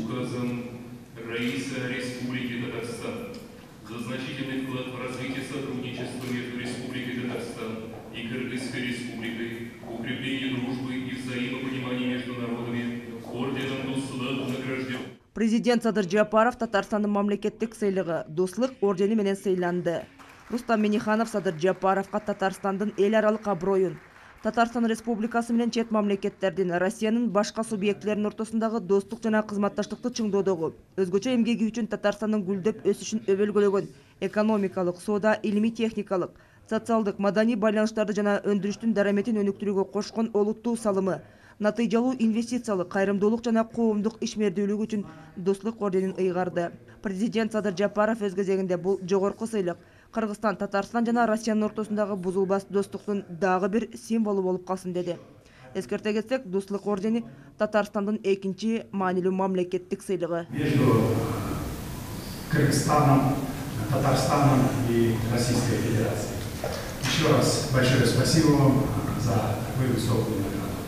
Указом Раиса Республики Татарстан за значительный вклад в развитие сотрудничества между Республикой Татарстан и Кыргызской Республикой, укрепление дружбы и взаимопонимания между народами орденом Дуслык награжден. Президент Садыр Жапаров Татарстандын мамлекеттик сыйлыгы Дуслык ордени менен сыйланды. Рустам Миниханов Садыр Жапаровга Татарстандын эл аралык аброюн, Татарстан Республикасы менен чет мамлекеттердин, Россиянын башка субъектилеринин ортосундагы достук жана кызматташтыкты чыңдоодогу, өзгөчө эмгеги үчүн Татарстандын гүлдөп өсүшүн өбөлгөлөгөн экономикалык, соода, илимий-техникалык, социалдык, маданий байланыштарды жана өндүрүштүн дараметин өнүктүрүүгө кошкон олуттуу салымы, натыйжалуу инвестициялык, кайрымдуулук жана коомдук ишмердүүлүк үчүн Дуслык орденин ыйгарды. Президент Садыр Жапаров өз кезегинде бул жогорку сыйлык Кыргызстан, Татарстан жана Россиянын ортосундагы бузулбас достуктун дагы бир символу болуп калсын деди. Эскерте кетсек, Дуслык ордени Татарстандын экинчи маанилүү мамлекеттик сыйлыгы. Между Кыргызстаном, Татарстаном и Российской Федерацией. Еще раз большое спасибо вам за такую высокую награду.